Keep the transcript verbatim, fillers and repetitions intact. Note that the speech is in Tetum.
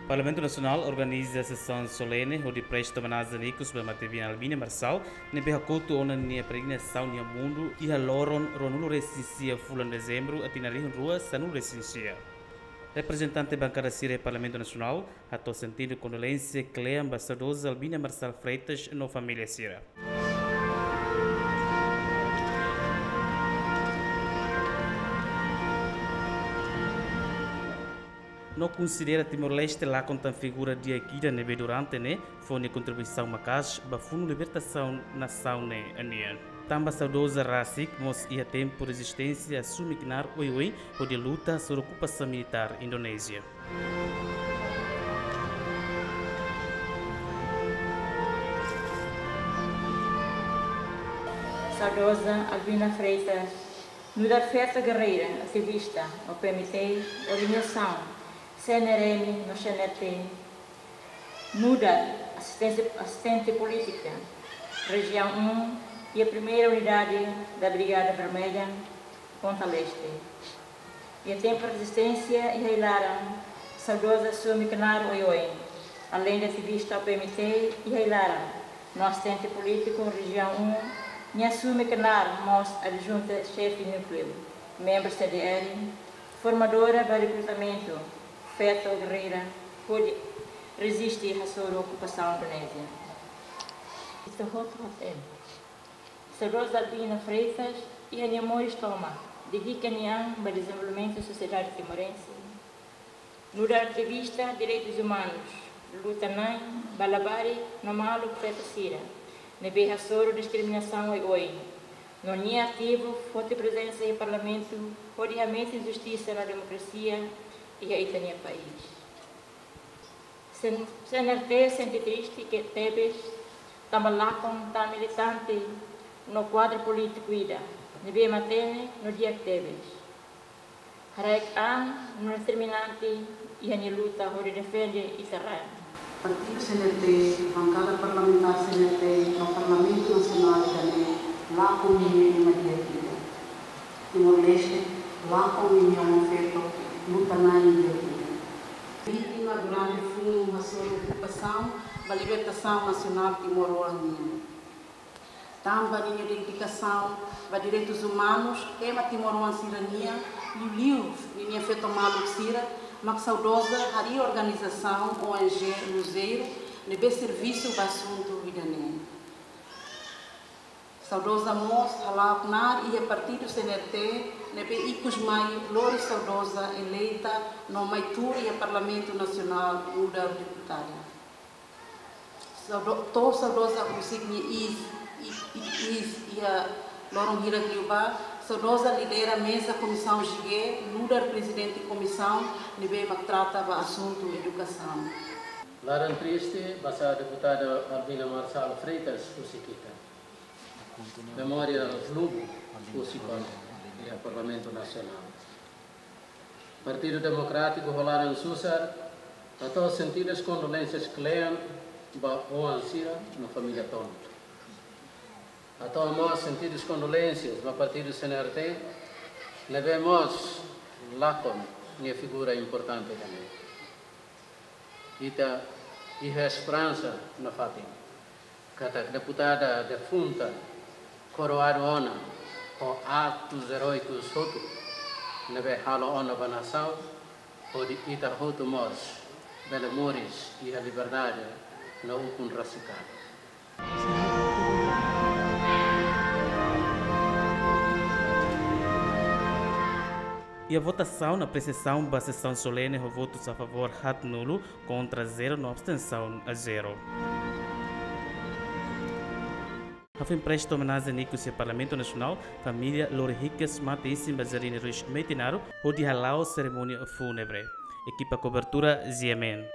Parlamentu Nasionál organiza sesaun solene hodi presta omenajen ikus ba Mativina Albina Marçal, ne'ebé hakotu ona nia peregrinasaun iha mundu iha loron ruanulu-resin-sia fulan Dezembru, tinan rihun rua sanulu-resin-sia. Reprezentante bankada sira iha Parlamentu Nasionál hato'o sentidu kondolénsia kle'an ba saudoza Albina Marçal Freitas no família sira. No konsidera Timor-Leste lakon tan figura di'ak ida ne'ebé durante ne'e fó nia kontribuisaun maka'as ba funu libertasaun nasaun ne'e nian. Tanba saudoza rasik mós iha tempu rezisténsia asume knaar oioin hodi luta hasoru okupasaun militár Indonézia. Saudoza Albina Freitas, nu'udar feto gerreira, ativista, O P M T, organizasaun, C N R M no C N R T, nu'udar asistente, asistente polítika, Rejiaun um, iha Primeira Unidade da Brigada Vermelha, Ponta Leste. Iha tempu rezisténsia iha ai-laran, saudoza asume knaar oioin. Aleinde ativista O P M T iha ai-laran, no asistente polítiku Rejiaun um, nia asume knaar mós adjunta xefe núkleu, membru C D R, formadora ba rekrutamentu, feto gerreira, hodi reziste hasoru okupasaun Indonézia. Ita hotu hatene, saudoza Albina Freitas iha nia moris tomak dedika nia an ba dezenvolvimentu sosiedade timorense, nu'udar ativista direitus umanus, luta-na'in ba labarik no maluk feto sira ne'ebé hasoru diskriminasaun oioin, no nia ativu forte prezensa iha Parlamentu hodi hametin justisa no demokrasia iha ita-nia país. CN-, C N R T sente triste tebes tanba lakon tan militante no kuadru polítiku ida ne'ebé matenek no di'ak tebes, haraik an no determinante iha nia luta hodi defende ita-nia rain. Partidu C N R T, bankada parlamentár C N R T no Parlamentu Nasionál ida-ne'e lakon ninia ema di'ak ida. Timor-Leste lakon ninia oan-feto luta-na'in di'ak ida. Vítima durante funu hasoru okupasaun ba libertasaun nasionál timoroan nian. Tanba ninia dedikasaun ba direitus umanus, ema timoroan sira-nian, liuliu ninia feto maluk sira, mak saudoza harii organizasaun O N G Luzeiru, ne'ebé servisu ba asuntu ida-ne'e. Saudoza mós hala'o knaar iha partidu C N R T, ne'ebé ikus mai lori saudoza eleita no mai tuur iha Parlamentu Nasionál nu'udar deputada. Saudo-, to'o saudoza husik nia iis, i-, i-, iis iha loron hirak liubá, saudoza lidera meza Komisaun G, nu'udar prezidente komisaun ne'ebé mak trata ba asuntu edukasaun. Laran triste ba sá deputada Albina Marçal Freitas husi ita. Memória lubu husi ba iha Parlamentu Nasionál. Partidu Demokrátiku ho laran susar hato'o sentidus kondolénsias kle'an ba oan sira no família tomak. Hato'o mós sentidus kondolénsias ba partidu C N R T, ne'ebé mós lakon nia figura importante ida-ne'e. Ita iha esperansa nafatin katak deputada defunta koroadu ona ho atus eróikus hotu ne'ebé halo ona ba nasaun, hodi ita hotu mós bele moris iha liberdade no ukun rasik an. Iha votasaun, apresiasaun ba sesaun solene ho votus a favór haatnulu, kontra zero no abstensaun zero. Hafoin presta omenajen ikus iha Parlamentu Nasionál, família lori hikas mate-isin ba Jardín Ruiz Metinaro, hodi hala'o serimónia fúnebre. Ekipa kobertura G M N.